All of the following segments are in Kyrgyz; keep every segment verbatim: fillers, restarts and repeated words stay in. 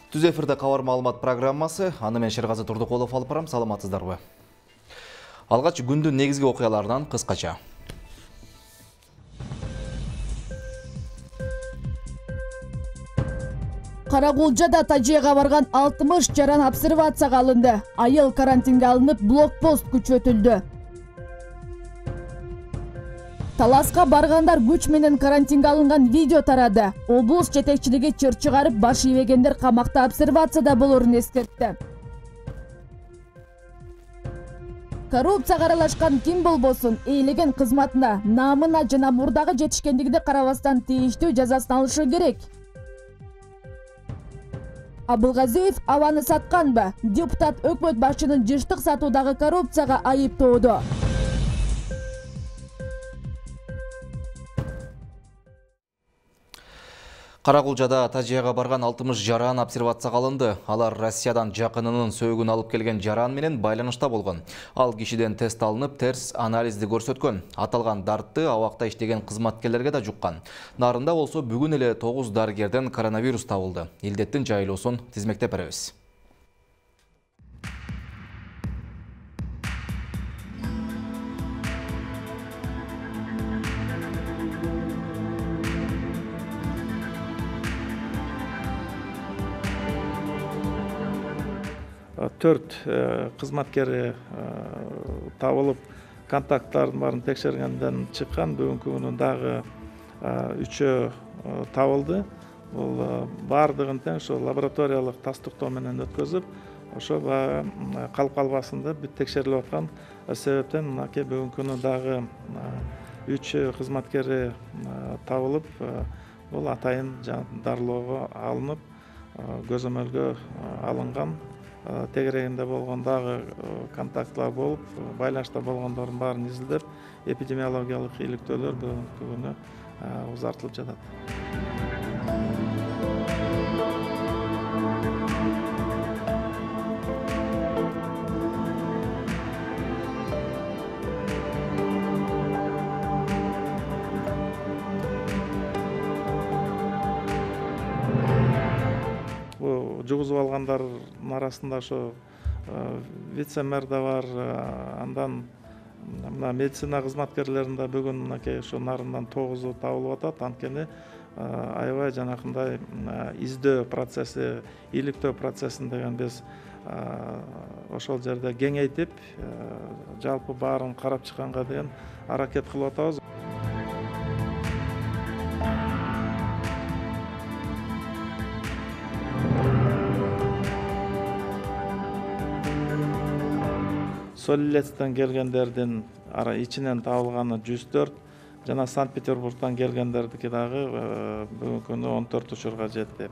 Түз эфирде кабар маалымат программасы, аны мен Шергазы Турдукулов алып барам, саламатсыздарбы. Алгач күндүн негизги окуяларынан кыскача. Карагулжада тажыйга барган алтымыш жаран обсервацияга алынды. Айыл карантинге алынып, блокпост күчөтүлдү. Таласка баргандар күч менен карантинге алынган видео тарады. Облус жетекчилиги чыр чыгарып, баш ийбегендер камакта обсервацияда болорун эскертти. Коррупцияга аралашкан ким болбосун, эйлеген кызматына, наамына жана мурдагы жетишкендигине карабастан тийиштүү жазасын алышы керек. Абылгазиев абаны сатканбы? Депутат өкмөт башчынын жыштык сатуудагы коррупцияга айыптоодо. Карагулжада тажыйга барган алтымыш жаран обсервацияга алынды. Алар Россиядан жакынынын сөөгүн алып келген жаран менен байланышта болгон. Ал кишиден тест алынып, терс анализди көрсөткөн. Аталган дартты абакта иштеген кызматкерлерге да жуккан. Нарында болсо бүгүн эле тогуз дарыгерден коронавирус табылды. Илдеттин жайылуусун тизмектеп беребиз. Төрт кызматкери табылып, контакттардын баарын текшергенден чыккан. Бүгүнкү күнү дагы үчөө табылды. Бул баардыгын тең ошо лабораториялык тастыктоо менен өткөзүп, ошо калып калбасында бүт текшерилип аткан себептен мынакей бүгүнкү күнү дагы үч кызматкери табылып, бул атайын дарылоого алынып, көзөмөлгө алынган. Тегерегинде болгон дагы контактлар болуп, байланышта болгондордун баарын изилдеп, эпидемиологиялык иликтөөлөр бүгүнкү күнү узартылып жатат. Жугузуп алгандардын арасында ошо вице-мэр да бар, андан мына медицина кызматкерлеринде бүгүн мынакей ошо нарындан тогузу табылып атат. Анткени аябай жанакындай издөө процесси, иликтөө процессин деген биз ошол жерде кеңейтип, жалпы баарын карап чыкканга деген аракет кылып атабыз. Солилецтен келгендердин ичинен табылганы жүз төрт, жана Санкт-Петербургтан келгендердики дагы бүгүнкү күнү он төрт учурга жетти.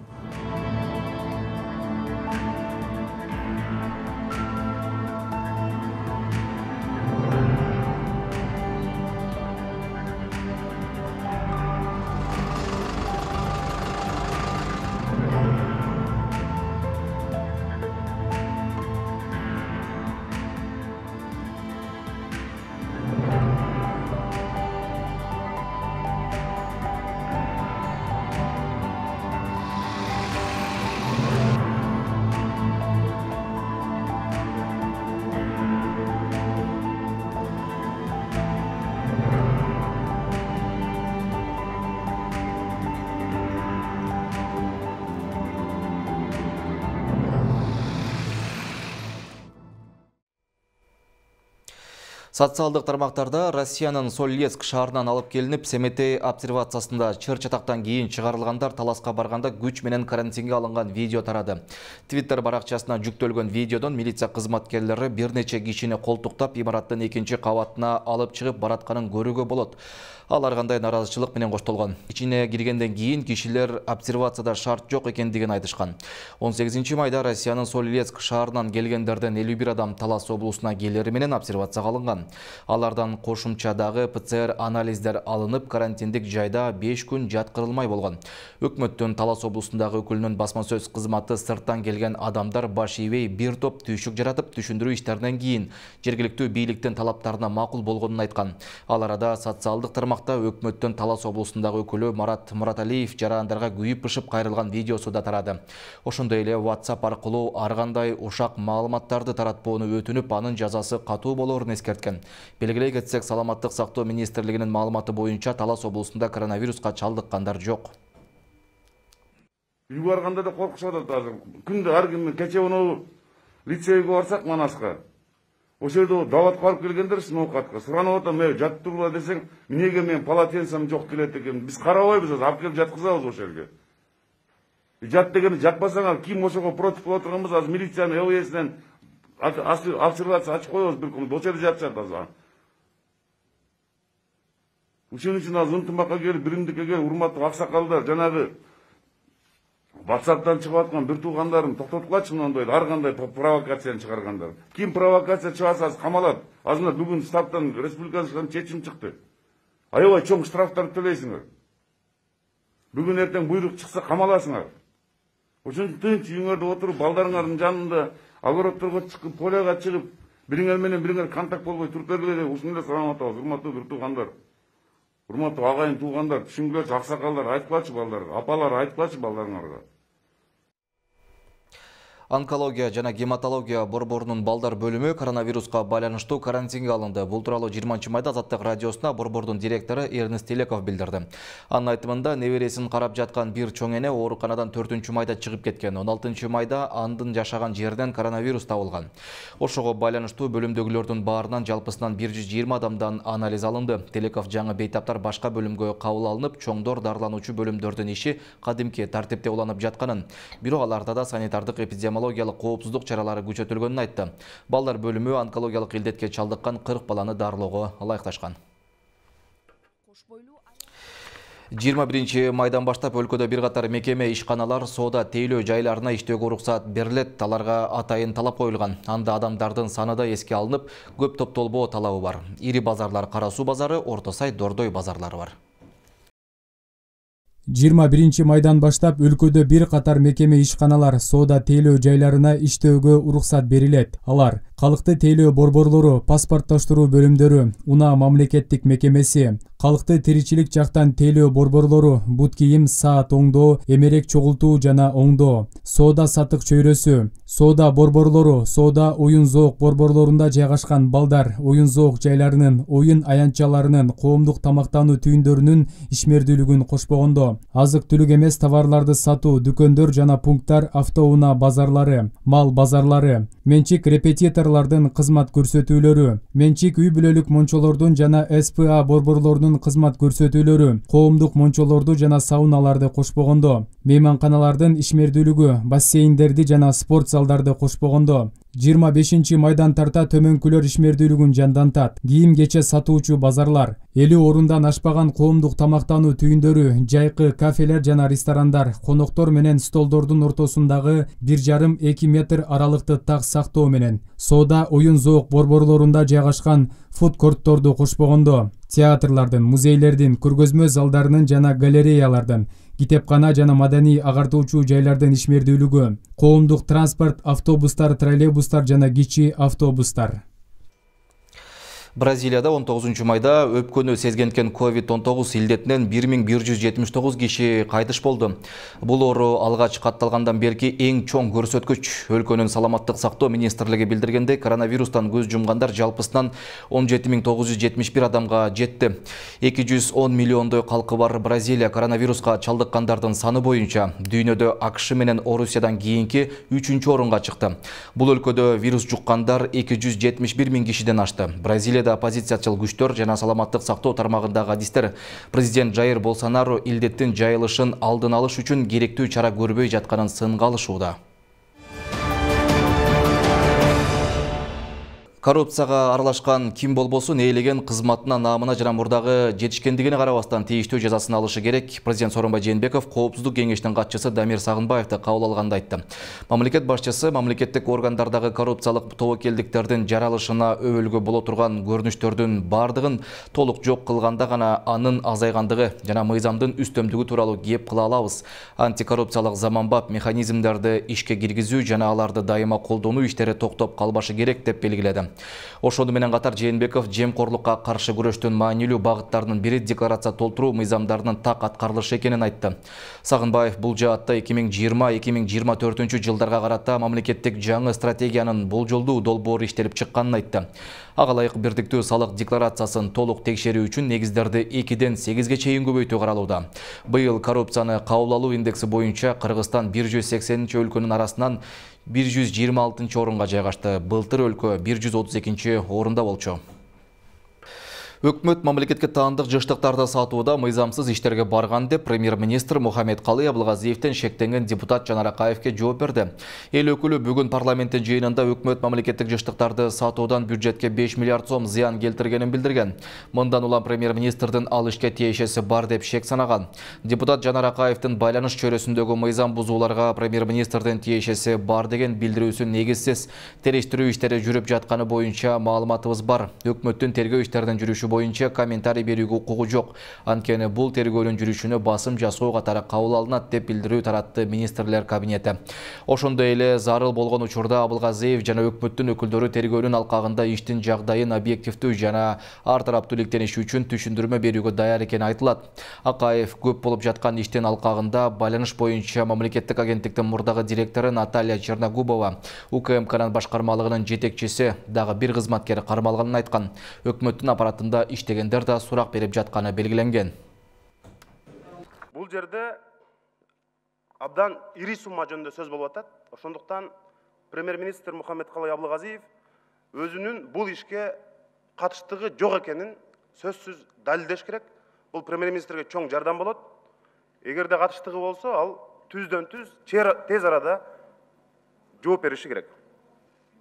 Социалдык тармактарда Россиянын Солилецк шаарынан алып келинип, Семетей обсервациясында чыр чатактан кийин чыгарылгандар таласка барганда күч менен карантинге алынган видео тарады. Твиттер баракчасына жүктөлгөн видеодон милиция кызматкерлери бир нече кишини колтуктап, имараттын экинчи кабатына алып чыгып баратканын көрүүгө болот. Ал ар кандай наразычылык менен коштолгон. Ичине киргенден кийин кишилер обсервацияда шарт жок экендигин айтышкан. он сегизинчи майда Россиянын Солилецк шаарынан келгендерден элүү бир адам Талас облусуна келери менен обсервацияга алынган. Алардан кошумча дагы ПЦР анализдер алынып, карантиндик жайда беш күн жаткырылмай болгон. Өкмөттүн Талас облусундагы өкүлүнүн басма сөз кызматы сырттан келген адамдар баш ийбей бир топ түйшүк жаратып, түшүндүрүү иштеринен кийин жергиликтүү бийликтин талаптарына макул болгонун айткан. Ал арада социалдык тармакта өкмөттүн Талас облусундагы өкүлү Марат Мураталиев жарандарга күйүп-пышып кайрылган видеосу да тарады. Ошондой эле WhatsApp аркылуу ар кандай ушак маалыматтарды таратпоону өтүнүп, анын жазасы катуу болорун эскерткен. Белгилей кетсек, Саламаттык сактоо министрлигинин маалыматы боюнча Талас облусунда коронавируска чалдыккандар жок. Үйгө барганда да коркушуп атат азыр. Күндө ар ким кече уну лицейге барсак Манаска. Ошол жерде даватка барып келгендер сноукатка суранып атам, "Мен жатып тургула" десең, "Эмнеге мен полотенцем жок келет экен? Биз карабайбыз, алып келип жаткызабыз ошол жерге." Жат дегенди жатпасаңар, ким ошого против болуп турганбыз, азыр милициянын ЛВСинен обсервация ачып коебуз бир күн. Ошол жерде жатышат азыр. Ошон үчүн азыр ынтымакка келип, биримдикке келип, урматтуу аксакалдар, жанагы WhatsApp'тан чыгып аткан бир туугандарым токтоткулачы мындай ар кандай провокацияны чыгаргандар. Ким провокация чыгарса азыр камалат. Азыр бүгүн штабтан республикалык чечим чыкты. Аябай чоң штрафтар төлөйсүңөр. Бүгүн эртең буйрук чыкса камаласыңар. Ошон үчүн тынч үйүңөрдө отуруп, балдарыңардын жанында огородторго чыгып, поляга чыгып, бириңер менен бириңер контакт болбой туруп бергиле деп ушундай салам атабыз, урматтуу бир туугандар. Урматтуу агайын туугандар, түшүнгүлөчү аксакалдар, айтпачы балдарга, апалар айтпачы балдарыңарга. Онкология жана гематология борборунун балдар бөлүмү коронавируска байланыштуу карантинге алынды. Бул тууралуу жыйырманчы майда Азаттык радиосуна борбордун директору Эрнест Телеков билдирди. Анын айтымында небересин карап жаткан бир чоң эне ооруканадан төртүнчү майда чыгып кеткен. он алтынчы майда андын жашаган жеринен коронавирус табылган. Ошого байланыштуу бөлүмдөгүлөрдүн баарынан жалпысынан бир жүз жыйырма адамдан анализ алынды. Телеков жаңы бейтаптар башка бөлүмгө кабыл алынып, чоңдор дарылануучу бөлүмдөрдүн иши кадимки тартипте уланып жатканын, бирок аларда да санитардык эпидемиологиялык коопсуздук чаралары күчөтүлгөнүн айтты. Балдар бөлүмү онкологиялык илдетке чалдыккан кырк баланы дарылоого ылайыкташкан. жыйырма биринчи майдан баштап өлкөдө бир катар мекеме, ишканалар, соода тейлөө жайларына иштөөгө уруксат берилет. Аларга атайын талап коюлган. Анда адамдардын саны да эске алынып, көп топтолбоо талабы бар. Ири базарлар Кара Суу базары, Орто Сай, Дордой базарлары бар. жыйырма биринчи майдан баштап өлкөдө бир катар мекеме, ишканалар, соода тейлөө жайларына иштөөгө уруксат берилет. Алар Калкты тейлөө борборлору, паспорттоштуруу бөлүмдөрү, Унаа мамлекеттик мекемеси, Калкты тиричилик жактан тейлөө борборлору, бут кийим, саат оңдоо, эмерек чогултуу жана оңдоо, соода сатык чөйрөсү, соода борборлору, соода оюн зоок борборлорунда жайгашкан балдар, оюн зоок жайларынын, оюн аянтчаларынын, коомдук тамактануу түйүндөрүнүн ишмердүүлүгүн кошпогондо, азык-түлүк эмес товарларды сатуу, дүкөндөр жана пункттар, автоунаа базарлары, мал базарлары, менчик репетиторлордун кызмат көрсөтүүлөрү, менчик үй бүлөлүк мончолордун жана СПА борборлорунун кызмат көрсөтүүлөрү, коомдук мончолорду жана сауналарды кошпогондо, мейманканалардын ишмердүүлүгү, бассейндерди жана спорт залдарды кошпогондо, жыйырма бешинчи майдан тарта төмөнкүлөр ишмердүүлүгүн жандантат. Кийим кече сатуучу базарлар, элүү орундан ашпаган коомдук тамактануу түйүндөрү, жайкы кафелер жана ресторандар, коноктор менен столдордун ортосундагы бир жарым эки метр аралыкты так сактоо менен, соода оюн зоок борборлорунда жайгашкан фудкортторду кошпогондо, театрлардын, музейлердин, көргөзмө залдарынын жана галереялардын, китепкана жана маданий агартуучу жайлардын ишмердүүлүгү, коомдук транспорт, автобустар, троллейбустар жана кичи автобустар. Бразилияда он тогузунчу майда өпкөнү сезгенкен ковид он тогуз илдетинен бир миң бир жүз жетимиш тогуз киши кайтыш болду. Бул оору алгач катталгандан берки эң чоң көрсөткүч. Өлкөнүн саламаттык сактоо министрлиги билдиргендей, коронавирустан көз жумгандар жалпысынан он жети миң тогуз жүз жетимиш бир адамга жетти. эки жүз он миллиондой калкы бар Бразилия коронавируска чалдыккандардын саны боюнча дүйнөдө АКШ менен Орусиядан кийинки үчүнчү орунга чыкты. Бул өлкөдө вирус жуккандар эки жүз жетимиш бир миң кишиден ашты. Бразилия оппозициячыл күчтөр жана саламаттык сактоо тармагындагы адистер президент Жайыр Болсонару илдеттин жайылышын алдын алыш үчүн керектүү чара көрбөй жатканын сынга алышууда. Коррупцияга аралашкан ким болбосун ээлеген кызматына, наамына жана мурдагы жетишкендигине карабастан тийиштүү жазасын алышы керек. Президент Сооронбай Жээнбеков Коопсуздук кеңешинин катчысы Дамир Сагынбаевди кабыл алганда айтты. Мамлекет башчысы мамлекеттик органдардагы коррупциялык тобокелдиктердин жаралышына өбөлгө боло турган көрүнүштөрдүн бардыгын толук жок кылганда гана анын азайгандыгы жана мыйзамдын үстөмдүгү тууралуу кеп кыла алабыз. Антикоррупциялык заманбап механизмдерди ишке киргизүү жана аларды дайыма колдонуу иштери токтоп калбашы керек деп белгиледи. Ошону менен катар Жээнбеков жемкорлукка каршы күрөштүн маанилүү багыттарынын бири декларация толтуруу мыйзамдарынын так аткарылышы экенин айтты. Сагынбаев бул жаатта эки миң жыйырма эки миң жыйырма төртүнчү жылдарга карата мамлекеттик жаңы стратегиянын болжолдуу долбоору иштелип чыкканын айтты. Ага ылайык бирдиктүү салык декларациясын толук текшерүү үчүн негиздерди экиден сегизге чейин көбөйтүү каралууда. Быйыл коррупцияны кабыл алуу индекси боюнча Кыргызстан бир жүз сексенинчи өлкөнүн арасынан бир жүз жыйырма алтынчы орунга жайгашты. Былтыр өлкө бир жүз отуз экинчи орунда болчу. Өкмөт мамлекетке таандык жыштыктарды сатууда мыйзамсыз иштерге барган деп премьер-министр Мухаммедкалый Абылгазиевден шектенген депутат Жанар Акаевке жооп берди. Эл өкүлү бүгүн парламенттин жыйынында өкмөт мамлекеттик жыштыктарды сатуудан бюджетке беш миллиард сом зыян келтиргенин билдирген. Мындан улам премьер-министрдин ал ишке тиешеси бар деп шек санаган. Депутат Жанар Акаевдин байланыш чөйрөсүндөгү мыйзам бузууларга премьер-министрдин тиешеси бар деген билдирүүсү негизсиз. Териштирүү иштери жүрүп жатканы боюнча маалыматыбыз бар. Өкмөттүн тергөө иштеринин жүрүшү боюнча комментарий берүүгө укугу жок. Анткени бул тергөөнүн жүрүшүнө басым жасоо катары кабыл алынат деп билдирүү таратты министрлер кабинети. Ошондой эле зарыл болгон учурда Абылгазиев жана өкмөттүн өкүлдөрү тергөөнүн алкагында иштин жагдайын объективдүү жана ар тараптуу иликтениши үчүн түшүндүрмө берүүгө даяр экени айтылат. Акаев көп болуп жаткан иштин алкагында байланыш боюнча мамлекеттик агенттиктин мурдагы директору Наталья Черногубова, УКМКнын башкармалыгынын жетекчиси дагы бир кызматкери кармалганын айткан. Өкмөттүн аппаратында иштегендер да сурак берип жатканы белгиленген. Бул жерде абдан ири сумма жөнүндө сөз болуп атат. Ошондуктан премьер-министр Мухаммедкалый Абылгазиев өзүнүн бул ишке катыштыгы жок экенин сөзсүз далилдеш керек. Бул премьер-министрге чоң жардам болот. Эгерде катыштыгы болсо, ал түздөн түз тез арада жооп бериши керек.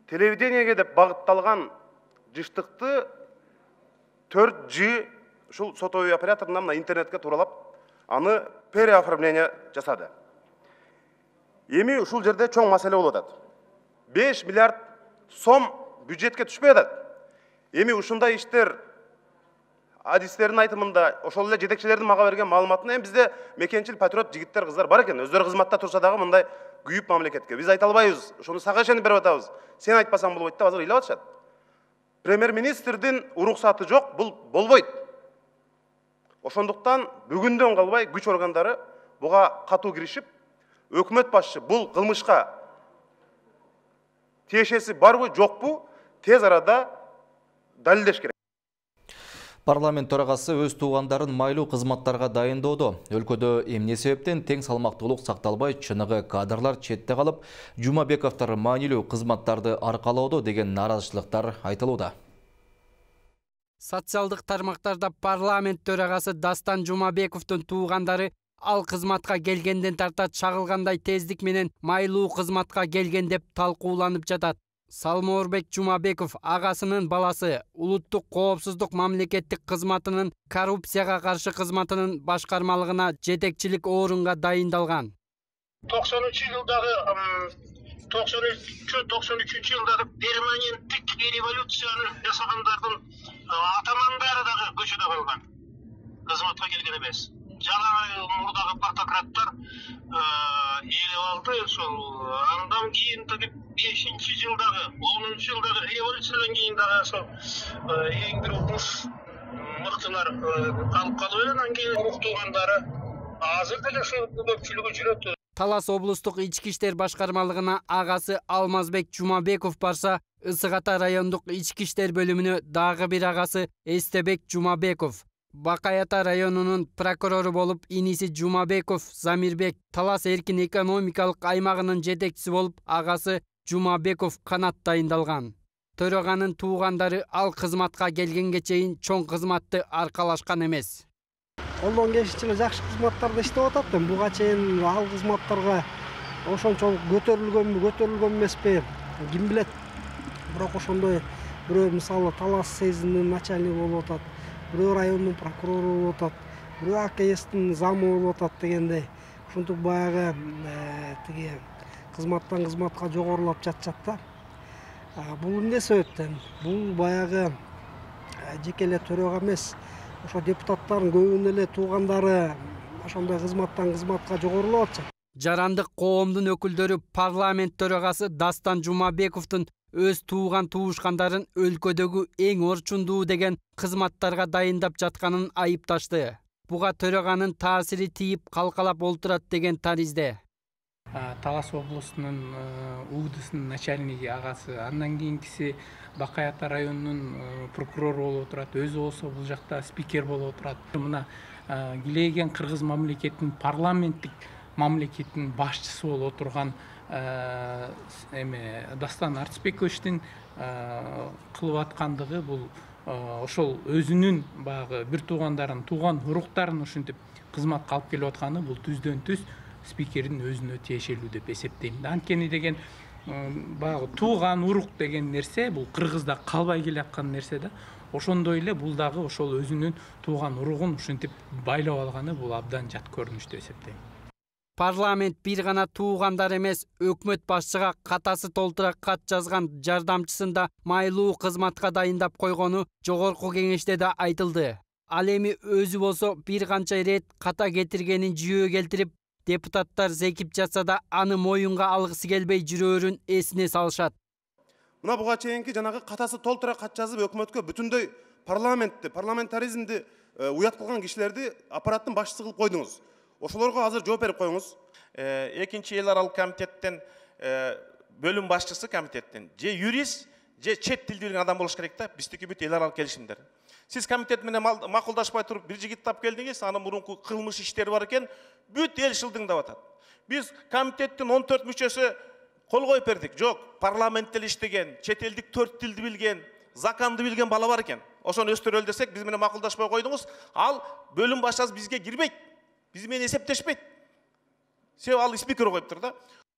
Телевидениеге деп багытталган жыштыкты төрт жи ушул сотовый операторунан мына интернетке тууралап аны переоформление жасады. Эми ушул жерде чоң маселе болуп атат. беш миллиард сом бюджетке түшпөй атат. Эми ушундай иштер адистердин айтымында ошол эле жетекчилердин мага берген маалыматына эми бизде мекенчил патриот жигиттер кыздар бар экен. Өздөрү кызматта турса дагы мындай күйүп мамлекетке. Биз айта албайбыз. Ошону сага ишенип берип атабыз. Сен айтпасаң болбойт деп азыр ыйлап атышат. Премьер-министрдин уруксаты жок, бул болбойт. Ошондуктан бүгүндөн калбай күч органдары буга катуу киришип, өкмөт башчы бул кылмышка тиешеси барбы, жокпу, тез арада далилдеш керек. Парламент төрагасы өз туугандарын майлуу кызматтарга дайындоодо. Өлкөдө эмне себептен тең салмактуулук сакталбай, чыныгы кадрлар четте калып, Жумабековдор маанилүү кызматтарды аркалоодо деген наразычылыктар айтылууда. Социалдык тармактарда парламент төрагасы Дастан Жумабековдун туугандары ал кызматка келгенден тарта чагылгандай тездик менен майлуу кызматка келген деп талкууланып жатат. Салмоорбек Жумабеков агасынын баласы улуттук коопсуздук мамлекеттик кызматынын коррупцияга каршы кызматынын башкармалыгына жетекчилик орунга дайындалган. токсонунчу жылдагы токсон үчүнчү токсон үчүнчү жылдагы перманенттик революцияны жасагандардын атамандары дагы көчөдө калган. Кызматка келген эмес. Жана мурдагы партократтар элеп алды. Ошол андан кийин бешинчи жылдагы, онунчу жылдагы революциядан кийин дагы ошол эң бир уруш мыктылар калып калып эле, андан кийин урук туугандары азыр деле ошол көпчүлүгү жүрөт. Талас облустук ички иштер башкармалыгына агасы Алмазбек Жумабеков барса, Ысык Ата райондук ички иштер бөлүмүнө дагы бир агасы Эстебек Жумабеков. Бакай Ата районунун прокурору болуп иниси Жумабеков Замирбек, Талас эркин экономикалык аймагынын жетекчиси болуп агасы Жумабеков канат дайындалган. Төраганын туугандары ал кызматка келгенге чейин чоң кызматты аркалашкан эмес. Колдон келишинче жакшы кызматтарда иштеп атат. Буга чейин ал кызматтарга ошончолук көтөрүлгөнбү, көтөрүлгөн эмеспи, ким билет. Бирок ошондой бирөө мисалы Талас сезинин начальниги болуп атат, бирөө райондун прокурору болуп атат, бирөө А К Стин замы болуп атат дегендей. Ушинтип баягы тиги кызматтан кызматка жогорулап жатышат да. Бул эмне себептен? Бул баягы жеке эле төрага эмес, ошо депутаттардын көбүнүн эле туугандары ошондой кызматтан кызматка жогорулап атышат. Жарандык коомдун өкүлдөрү парламент төрагасы Дастан Жумабековдун өз тууган туушкандарын өлкөдөгү эң орчундуу деген кызматтарга дайындап жатканын айыпташты. Буга төраганын таасири тийип калкалап олтурат деген таризде. Талас облусунун УДСынын начальниги агасы, андан кийинкиси Бакай Ата районунун прокурору болуп турат, өзү болсо бул жакта спикер болуп турат. Мына Гилеген кыргыз мамлекетинин парламенттик мамлекеттин башчысы болуп отурган эме Дастан Артипековичтин кылып аткандыгы бул ошол өзүнүн баягы бир туугандарын, тууган уруктарын ушинтип кызматка алып келип атканы бул түздөн түз спикердин өзүнө тиешелүү деп эсептейм. Анткени деген баягы тууган урук деген нерсе бул Кыргызда калбай келаткан нерсе да. Ошондой эле бул дагы ошол өзүнүн тууган уругун ушинтип байлап алганы бул абдан жат көрүнүш деп эсептейм. Парламент бир гана туугандар эмес, өкмөт башчыга катасы толтура кат жазган жардамчысын да майлуу кызматка дайындап койгону жогорку кеңеште да айтылды. Ал эми өзү болсо бир канча ирет ката кетиргенин жүйө келтирип, депутаттар зекип жатса да аны моюнга алгысы келбей жүрөөрүн эсине салышат. Мына буга чейинки жанагы катасы толтура кат жазып өкмөткө бүтүндөй парламентти, парламентаризмди уят кылган кишилерди аппараттын башчысы кылып койдуңуз. Ошолорго азыр жооп берип коюңуз. Экинчи эл аралык комитеттен бөлүм башчысы комитеттен же юрист, же чет тилди билген адам болуш керек да. Биздики бүт эл аралык келишимдер. Сиз комитет менен макулдашпай туруп бир жигит тап келдиңиз, анын мурунку кылмыш иштери бар экен, бүт эл шылдыңдап атат. Биз комитеттин он төрт мүчөсү кол коюп бердик. Жок, парламентте иштеген, чет элдик төрт тилди билген, законду билген бала бар экен. Ошону өстүрөлү десек, биз менен макулдашпай койдуңуз. Ал бөлүм башчысы бизге кирбейт. Биз менен эсептешпейт. Себеби ал спикер коюптур да.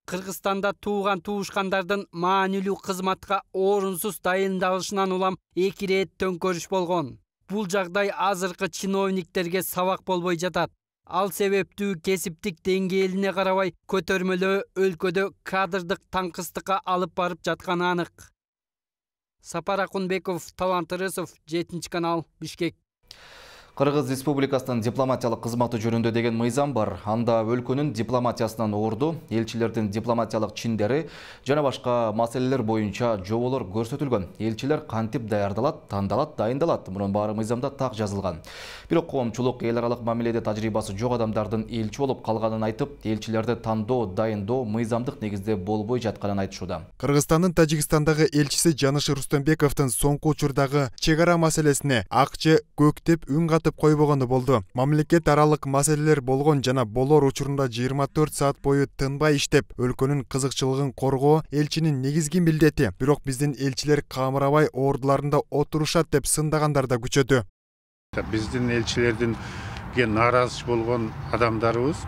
Кыргызстанда тууган туушкандардын маанилүү кызматка орунсуз дайындалышынан улам эки ирет төңкөрүш болгон. Бул жагдай азыркы чиновниктерге сабак болбой жатат. Ал себептүү кесиптик деңгээлине карабай көтөрмөлөө өлкөдө кадрдык таңкыстыкка алып барып жатканы анык. Сапар Акунбеков, Талант Ырысов, жетинчи канал, Бишкек. Кыргыз Республикасынын дипломатиялык кызматы жөнүндө деген мыйзам бар. Анда өлкөнүн дипломатиясынан орду, элчилердин дипломатиялык чиндери жана башка маселелер боюнча жоболор көрсөтүлгөн. Элчилер кантип даярдалат, тандалат, дайындалат. Мунун баары мыйзамда так жазылган. Бирок коомчулук эл аралык мамиледе тажрыйбасы жок адамдардын элчи болуп калганын айтып, элчилерди тандоо, дайындоо мыйзамдык негизде болбой жатканын айтышууда. Кыргызстандын Тажикстандагы элчиси Жаныш Рустембековдун соңку учурдагы чек ара маселесине акчы көктеп үн катып койбогону болду. Мамлекет аралык маселелер болгон жана болор учурунда жыйырма төрт саат бою тынбай иштеп, өлкөнүн кызыкчылыгын коргоо элчинин негизги милдети. Бирок биздин элчилер камырабай ордуларында отурушат деп сындагандар да күчөдү. Биздин элчилердин нааразы болгон адамдарыбыз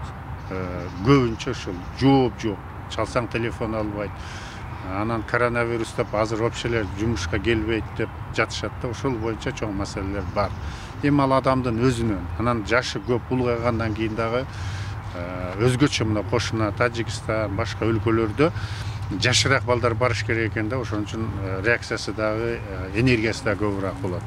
көбүнчө ушул жооп жок, чалсаң телефон албайт. Анан коронавирус деп азыр вообще жумушка келбейт деп жатышат да. Ошол боюнча чоң маселелер бар. Эми ал адамдын өзүнөн, анан жашы көп улгайгандан кийин дагы өзгөчө мына кошуна Тажикстан, башка өлкөлөрдө жашыраак балдар барыш керек экен да. Ошон үчүн реакциясы дагы, энергиясы да көбүрөөк болот.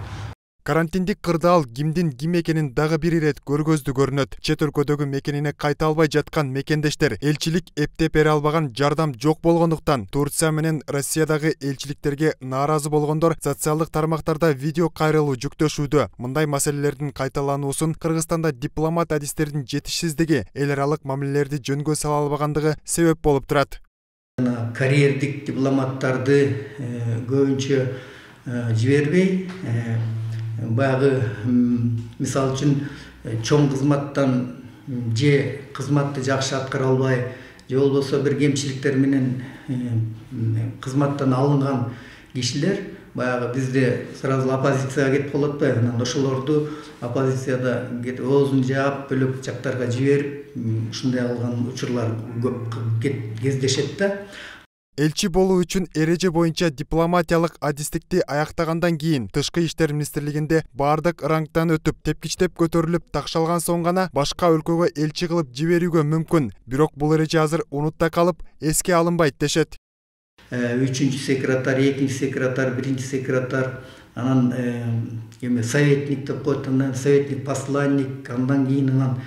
Карантиндик кырдаал кимдин ким экенин дагы бир ирет көргөздү көрүнөт. Чет өлкөдөгү мекенине кайта албай жаткан мекендештер элчилик эптеп бере албаган жардам жок болгондуктан Турция менен Россиядагы элчиликтерге нааразы болгондор социалдык тармактарда видео кайрылуу жүктөшүүдө. Мындай маселелердин кайталануусун Кыргызстанда дипломат адистердин жетишсиздиги, эл аралык мамилелерди жөнгө сала албагандыгы себеп болуп турат. Карьердик дипломаттарды көбүнчө жибербей, баягы мисалы үчүн чоң кызматтан же кызматты жакшы аткара албай, же болбосо бир кемчиликтер менен кызматтан алынган кишилер баягы бизде сразу оппозицияга кетип калат да. Анан ошолорду оппозицияда оозун жаап, бөлөк жактарга жиберип, ушундай алган учурлар көп кездешет да. Элчи болуу үчүн эреже боюнча дипломатиялык адистикти аяктагандан кийин Тышкы иштер министрлигинде баардык рангтан өтүп, тепкичтеп көтөрүлүп такшалган соң гана башка өлкөгө элчи кылып жиберүүгө мүмкүн. Бирок бул эреже азыр унутта калып, эске алынбайт дешет. Үчүнчү секретарь, экинчи секретарь, биринчи секретарь, анан эме советник деп коет, анан советник посланник, андан кийин анан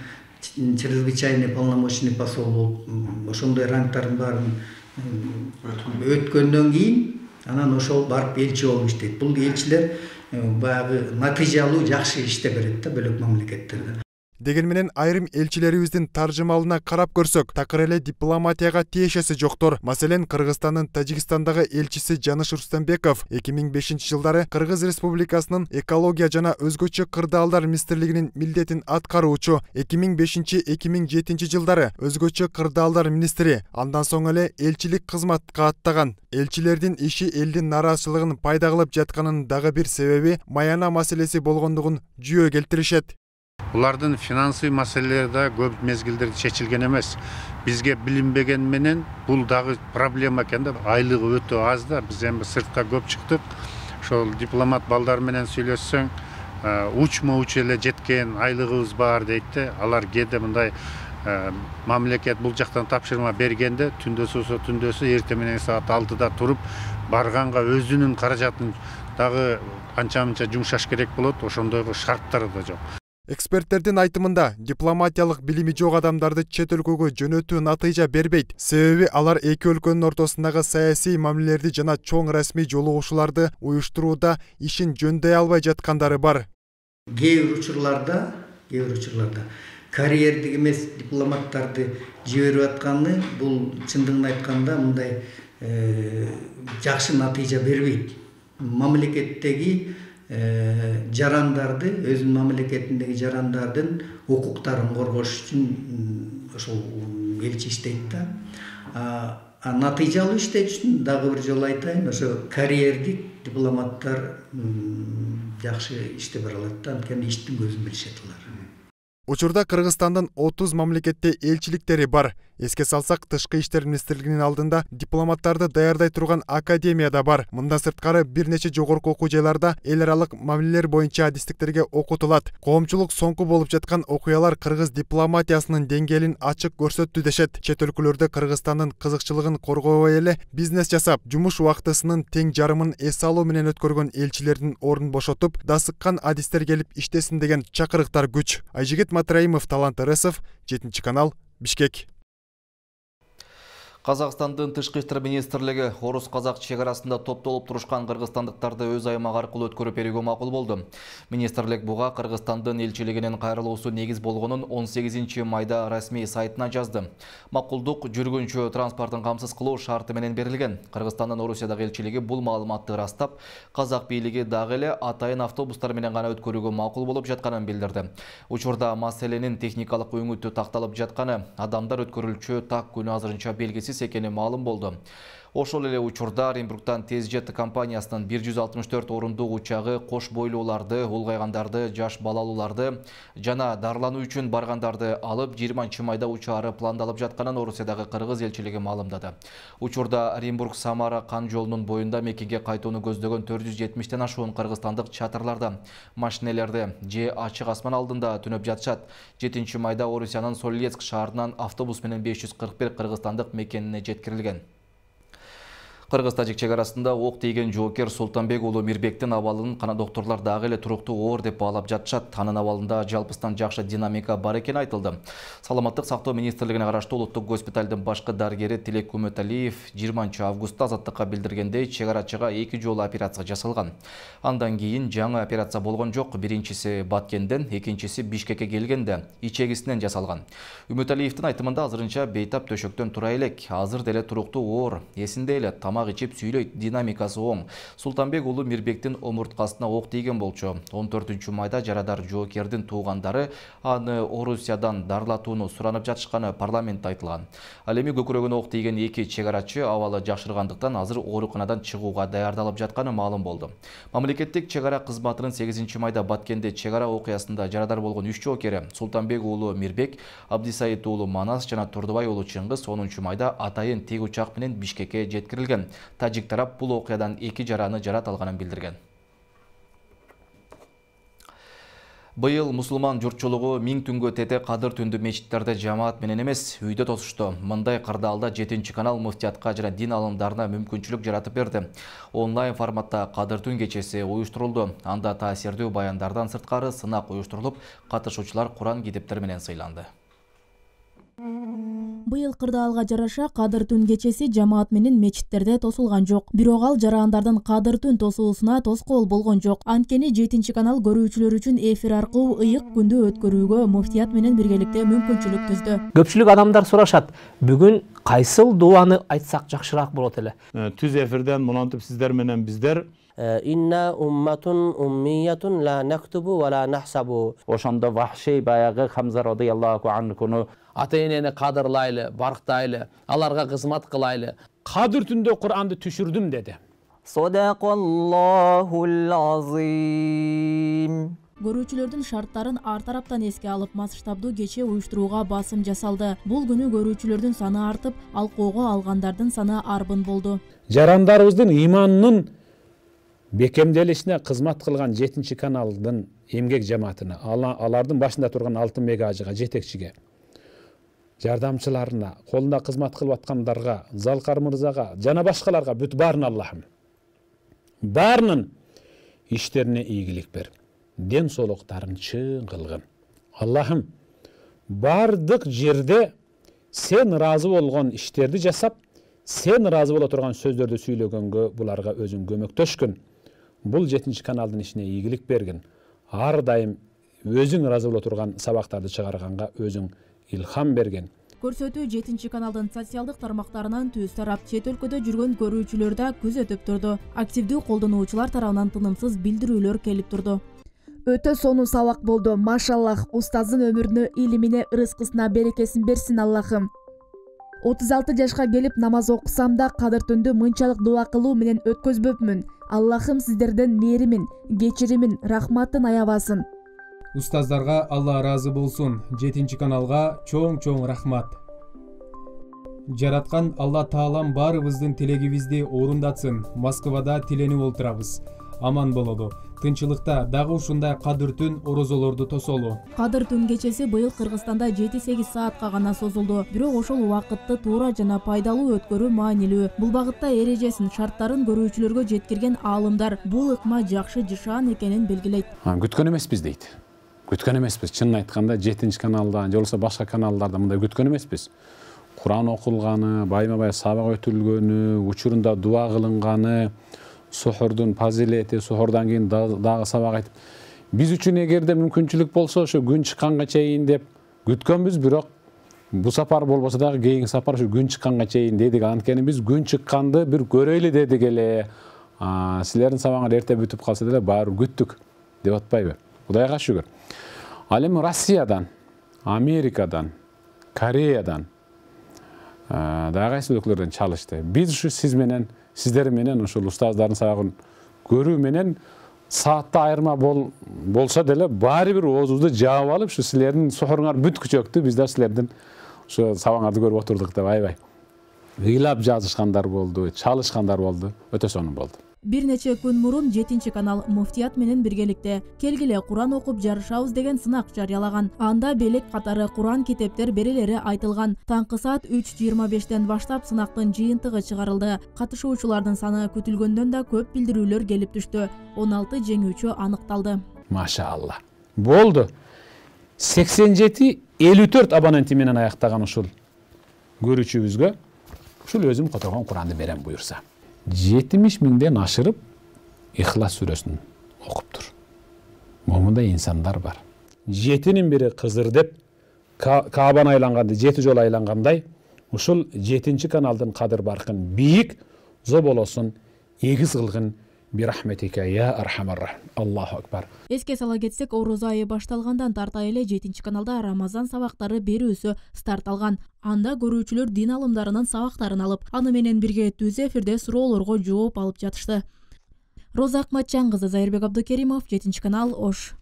чрезвычайный полномочный посол болуп, ошондой рангтардын баарын өткөндөн кийин анан ошол барып элчи болуп иштейт. Бул элчилер баягы натыйжалуу жакшы иштеп берет да бөлөк мамлекеттерде. Деген менен айрым элчилерибиздин таржымалына карап көрсөк, такыр эле дипломатияга тиешеси жоктор. Маселен, Кыргызстандын Тажикстандагы элчиси Жаныш Рустамбеков эки миң бешинчи жылдары Кыргыз Республикасынын экология жана өзгөчө кырдаалдар министрлигинин милдетин аткаруучу, эки миң бешинчи — эки миң жетинчи жылдары өзгөчө кырдаалдар министри, андан соң эле элчилик кызматка аттаган. Элчилердин иши элдин нааразычылыгын пайда кылып жатканын дагы бир себеби Маяна маселеси болгондугун жүйө келтиришет. Улардын финансый маселелери да көп мезгилдерде чечилген эмес. Бизге билинбеген менен бул дагы проблема экен да. Айлыгы өтө аз да. Биз эми сыртка көп чыктык. Ошол дипломат балдар менен сүйлөшсөң, учма уч эле жеткен айлыгыбыз бар дейт да. Алар кээде мындай мамлекет бул жактан тапшырма бергенде түндөсү болсо түндөсү, эртең менен саат алтыда туруп барганга өзүнүн каражатын дагы анча-мынча жумшаш керек болот. Ошондойго шарттары да жок. Эксперттердин айтымында, дипломатиялык билими жок адамдарды чет өлкөгө жөнөтүү натыйжа бербейт. Себеби алар эки өлкөнүн ортосундагы саясий мамилелерди жана чоң расмий жолугушууларды уюштурууда ишин жөндөй албай жаткандары бар. Кээ бир учурларда, кээ бир учурларда карьердик эмес дипломаттарды жиберип атканы бул чындыгын айтканда мындай жакшы натыйжа бербейт. Мамлекеттеги жарандарды, өзүнүн мамлекетиндеги жарандардын укуктарын коргош үчүн ошол элчи иштейт да. А натыйжалуу иштеш үчүн дагы бир жолу айтайын, ошо карьердик дипломаттар жакшы иштеп бара алат да, анткени иштин көзүн билишет алар. Учурда Кыргызстандын отуз мамлекетте элчиликтери бар. Эске салсак, Тышкы иштер министрлигинин алдында дипломаттарды даярдай турган академия да бар. Мындан сырткары бир нече жогорку окуу жайларда эл аралык мамилелер боюнча адистиктерге окутулат. Коомчулук соңку болуп жаткан окуялар кыргыз дипломатиясынын деңгээлин ачык көрсөттү дешет. Чет өлкөлөрдө Кыргызстандын кызыкчылыгын коргобой эле бизнес жасап, жумуш убактысынын тең жарымын эс алуу менен өткөргөн элчилердин ордун бошотуп, дасыккан адистер келип иштесин деген чакырыктар күч. Айжигит Матраимов, Талант Ырысов, жетинчи канал, Бишкек. Казакстандын Тышкы иштер министрлиги орус-казак чек арасында топтолуп турушкан кыргызстандыктарды өз аймагы аркылуу өткөрүп берүүгө макул болду. Министрлик буга Кыргызстандын элчилигинин кайрылуусу негиз болгонун он сегизинчи майда расмий сайтына жазды. Макулдук жүргүнчү транспортун камсыз кылуу шарты менен берилген. Кыргызстандын Орусиядагы элчилиги бул маалыматты ырастап, казак бийлиги дагы эле атайын автобустар менен гана өткөрүүгө макул болуп жатканын билдирди. Учурда маселенин техникалык өңүтү такталып жатканы, адамдар өткөрүлчү так күнү азырынча белгисиз экени маалым болду. Ошол эле учурда Оренбургтан Тезжет компаниясынын бир жүз алтымыш төрт орундук учагы кош бойлууларды, улгайгандарды, жаш балалууларды жана дарылануу үчүн баргандарды алып жыйырманчы майда учаары пландалып жатканын Орусиядагы кыргыз элчилиги маалымдады. Учурда Оренбург-Самара кан жолунун боюнда мекенге кайтууну көздөгөн төрт жүз жетимиштен ашуун кыргызстандык чатырларда, машинелерде же ачык асман алдында түнөп жатышат. жетинчи майда Орусиянын Солилецк шаарынан автобус менен беш жүз кырк бир кыргызстандык мекенине жеткирилген. Кыргыз-тажик чек арасында ок тийген жоокер Султанбек уулу Мирбектин абалын кана доктурлар дагы эле туруктуу оор деп баалап жатышат. Анын абалында жалпыстан жакшы динамика бар экени айтылды. Саламаттык сактоо министрлигине караштуу улуттук госпиталдын башкы дарыгери Тилек Күмөталиев жыйырманчы августта Азаттыкка билдиргендей, чек арачыга эки жолу операция жасалган. Андан кийин жаңы операция болгон жок. Биринчиси Баткенден, экинчиси Бишкекке келгенде ичегисинен жасалган. Үмөталиевдин айтымында азырынча бейтап төшөктөн тура элек, азыр деле туруктуу оор, эсинде эле тамак тамак ичип сүйлөйт, динамикасы оң. Султанбек уулу Мирбектин омурткасына ок тийген болчу. он төртүнчү майда жарадар жоокердин туугандары аны Орусиядан дарылатууну суранып жатышканы парламентте айтылган. Ал эми көкүрөгүнө ок тийген эки чегарачы абалы жакшыргандыктан азыр ооруканадан чыгууга даярдалып жатканы маалым болду. Мамлекеттик чегара кызматынын сегизинчи майда Баткенде чегара окуясында жарадар болгон үч жоокери Султанбек уулу Мирбек, Абдисайыт уулу Манас жана Турдубай уулу Чыңгыз онунчу майда атайын тик учак менен Бишкекке жеткирилген. Тажик тарап бул окуядан эки жараны жарат алганын билдирген. Быйыл мусулман журтчулугу миң түнгө тете кадыр түндү мечиттерде жамаат менен эмес, үйдө тосушту. Мындай кырдаалда жетинчи канал муфтиятка жана дин алымдарына мүмкүнчүлүк жаратып берди. Онлайн форматта кадыр түн кечеси уюштурулду. Анда таасирдүү баяндардан сырткары сынак уюштурулуп, катышуучулар Куран китептери менен сыйланды. Быйыл кырдаалга жараша кадыр түн кечеси жамаат менен мечиттерде тосулган жок. Бирок ал жарандардын кадыр түн тосуусуна тоскоол болгон жок. Анткени жетинчи канал көрүүчүлөр үчүн эфир аркылуу ыйык күндү өткөрүүгө муфтият менен биргеликте мүмкүнчүлүк түздү. Көпчүлүк адамдар сурашат, бүгүн кайсыл дуаны айтсак жакшыраак болот эле? Түз эфирден мынантип сиздер менен биздер Инна умматун уммиятун ла нактубу ва ла нахсабу. Ошондо Вахши баягы Хамза радыйаллаху анхуну ата-энени кадырлайлы, барктайлы, аларга кызмат кылайлы. Кадыр түндө Куранды түшүрдүм деди. Садакаллахул азим. Көрүүчүлөрдүн шарттарын ар тараптан эске алып, масштабдуу кече уюштурууга басым жасалды. Бул күнү көрүүчүлөрдүн саны артып, алкоого алгандардын саны арбын болду. Жарандарыбыздын иманынын бекемделишине кызмат кылган жетинчи каналдын эмгек жамаатына, алардын башында турган Алтын Мегажыга, жетекчиге, жардамчыларына, колунда кызмат кылып аткандарга, Залкар мырзага жана башкаларга бүт баарына Аллахым баарынын иштерине ийгилик бер, ден соолуктарын чың кылгын. Аллахым бардык жерде сен ыраазы болгон иштерди жасап, сен ыраазы боло турган сөздөрдү сүйлөгөнгө буларга өзүң көмөктөшкүн. Бул жетинчи каналдын ишине ийгилик бергин. Ар дайым өзүң ыраазы боло турган сабактарды чыгарганга өзүң илхам берген. Көрсөтүү жетинчи каналдын социалдык тармактарынан түз тарап, чет өлкөдө жүргөн көрүүчүлөр да күзөтүп турду. Активдүү колдонуучулар тарабынан тынымсыз билдирүүлөр келип турду. Өтө сонун сабак болду. Машаллах, устаздын өмүрүнө, илимине, ырыскысына берекесин берсин Аллахым. отуз алты жашка келип намаз окусам да кадыр түндү мынчалык дуа кылуу менен өткөзбөпмүн. Аллахым сиздерден мээримин, кечиримин, рахматын аябасын. Устаздарга Алла ыраазы болсун. жетинчи каналга чоң-чоң рахмат. Жараткан Алла Таалам баарыбыздын тилегибизди орундатсын. Москвада тиленип олтурабыз. Аман бололу. Тынчылыкта дагы ушундай кадыр түн орозолорду тосолу. Кадыр түн кечеси быйыл Кыргызстанда жети сегиз саатка гана созулду. Бирок ошол убакытты туура жана пайдалуу өткөрүү маанилүү. Бул багытта эрежесин, шарттарын көрүүчүлөргө жеткирген аалымдар бул ыкма жакшы жышаан экенин белгилейт. Күткөн эмеспиз дейт. Күткөн эмеспиз. Чынын айтканда жетинчи каналда, же болбосо башка каналдарда мындай күткөн эмеспиз. Куран окулганы, байма-бай сабак өтүлгөнү, учурунда дуа кылынганы, сухурдун фазилети, сухурдан кийин дагы сабак айтып. Биз үчүн эгерде мүмкүнчүлүк болсо, ошо күн чыкканга чейин деп күткөнбүз, бирок бул сапар болбосо дагы кийинки сапар ушу күн чыкканга чейин дедик. Анткени биз күн чыкканды бир көрөйлү дедик эле. Силердин сабагыңар эрте бүтүп калса деле баары күттүк деп атпайбы? Кудайга шүгүр. Ал эми Россиядан, Америкадан, Кореядан, дагы кайсы өлкөлөрдөн чалышты. Биз ушу сиз менен, сиздер менен ушул устаздардын сабагын көрүү менен саатта айырма болсо деле баары бир оозубузду жаап алып, ушу силердин сухуруңар бүт күчөктү, биз да силердин ушу сабагыңарды көрүп отурдук деп аябай. Ыйлап жазышкандар болду, чалышкандар болду, өтө сонун болду. Бир нече күн мурун жетинчи канал муфтият менен биргеликте келгиле Куран окуп жарышабыз деген сынак жарыялаган. Анда белек катары Куран китептер берелери айтылган. Таңкы саат үч жыйырма бештен баштап сынактын жыйынтыгы чыгарылды. Катышуучулардын саны күтүлгөндөн да көп билдирүүлөр келип түштү. он алты жеңүүчү аныкталды. Машалла. Болду. сексен жети элүү төрт абоненти менен аяктаган ушул көрүүчүбүзгө ушул өзүм которгон Куранды берем буюрса. жетимиш миңден ашырып Ихлас сүрөсүн окуптур. Момундай инсандар бар. Жетинин бири Кызыр деп Каабаны айланганды жети жолу айлангандай, ушул жетинчи каналдын кадыр баркын бийик, зоболосун, эгиз кылгын бирахметика я архамар рахим. Аллаху акбар. Эске сала кетсек, орозо айы башталгандан тарта эле жетинчи каналда Рамазан сабактары берүүсү старт алган. Анда көрүүчүлөр дин алымдарынын сабактарын алып, аны менен бирге түз эфирде суроолорго жооп алып жатышты. Роза Акматжан кызы, Зайырбек Абдыкеримов, жетинчи канал, Ош.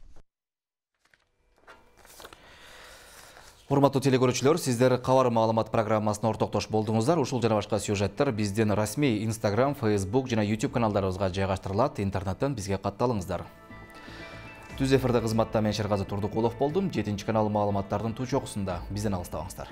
Урматтуу телекөрүүчүлөр, сиздер кабар маалымат программасына ортоктош болдуңуздар. Ушул жана башка сюжеттер биздин расмий Instagram, Facebook жана YouTube каналдарыбызга жайгаштырылат. Интернеттен бизге катталыңыздар. Түз эфирде кызматта мен Шергазы Турдукулов болдум. жетинчи канал маалыматтардын туу чокусунда бизден алыстабаңыздар.